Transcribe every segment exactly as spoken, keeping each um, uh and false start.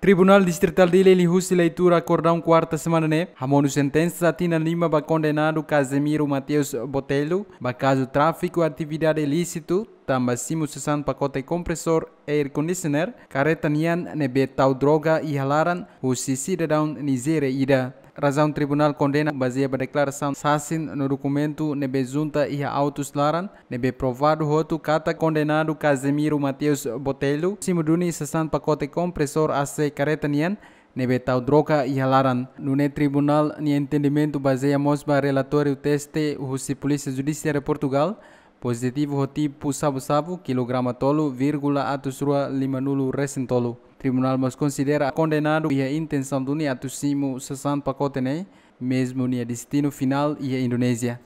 Tribunál Distritál Dili liuhusi leitura akordaun kuarta semana ne'e hamonu sentensa tinan lima ba kondenadu Casemiro Mateus Botelho ba kazu tráfiku atividade ilísitu, tanba simu sasán pakote kompresór air conditioner kareta nian ne'ebé tau droga iha laran husi sidadaun Nizéria ida. Razaun tribunál kondena bazeia ba deklarasaun sasin no dokumentu ne'ebé junta iha autus laran, ne'ebé provadu hotu katak kondenadu Casemiro Mateus Botelho simu duni sasán pakote kompresór A C kareta nian ne'ebé tau droga iha laran. Nune'e tribunál nia entendimentu bazeia mós ba relatóriu teste husi Polísia Judisiária Portugál, pozitivu ho tipu sabu-sabu, kilograma tolu vírgula atus rua lima-nulu resin tolu. Tribunál mós konsidera kondenadu iha intensaun duni atu simu sasán pakote ne'e, mezmu nia destinu finál iha Indonézia.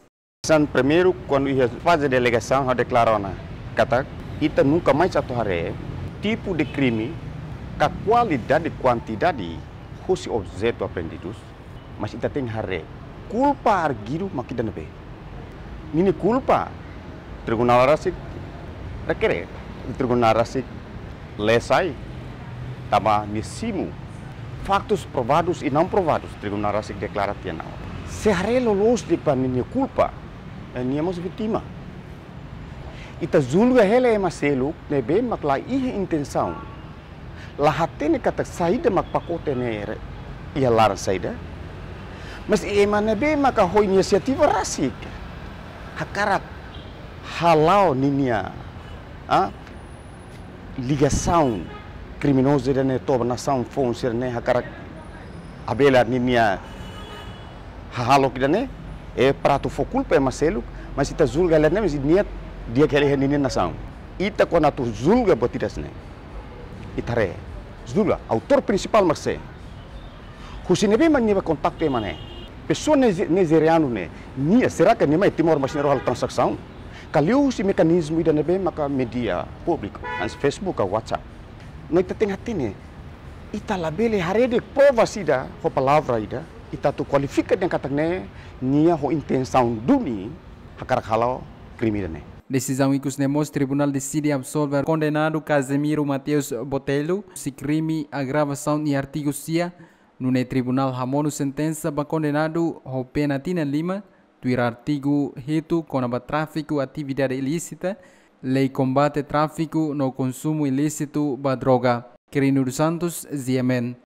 San primeiru, kuandu iha faze de alegasaun, ha'u deklara ona katak ita nunka mais atu haree tipu de krime ka kualidade, kuantidade husi objetu apreendidus, mas ita tenke haree kulpa arguidu mak ida-ne'ebé. Ninia kulpa, tribunál rasik rekere, tribunál rasik lee sai, tanba nia simu faktus provadus i não provadus, tribunál rasik deklara tiha ona. Se haree loloos de'it ba ninia kulpa, eh, nia mós vítima. Ita julga hela ema seluk ne'ebé mak la iha intensaun, la hatene katak saida mak pakote ne'e re-, iha laran saida. Mas ema ne'ebé maka ho inisiativa rasik hakarak hala'o ninia, ah, ligasaun kriminozu ida-ne'e to'o ba nasaun foun sira-ne'e, hakarak abela ninia hahalok ida-ne'e, eh, para atu fó kulpa ema seluk, mas ita julga hela ne'e, mas nia di'ak hela iha ninia nasaun. Ita kuandu atu julga buat ida hanesan ne'e, ita haree, julga, autór prinsipál mak sé? Husi ne'ebé mak nia bá kontaktu ema ne'e? Pesoa nize-, nizerianu ne'e, nia, será que nia mai Timor, mas nia rona halo tranzasaun? Ka liuhusi mekanizmu ida ne'ebé maka mídia públiku, hanesan Facebook ka WhatsApp? No ita tenke hatene, ita labele haree de'it prova ida ho palavra ida, ita atu kualifika dehan katak ne'e nia ho intensaun duni hakarak hala'o krime ida-ne'e. Desizaun ikus ne'e mós tribunál deside absolve kondenadu Casemiro Mateus Botelho husi krime agravasaun iha artigu sia, nune'e tribunál hamonu sentensa ba kondenadu ho pena tinan lima, tuir artigu hitu kona-ba tráfiku atividade ilísita, lei kombate tráfiku no konsumu ilísitu ba droga. Quirino dos Santos, G M N.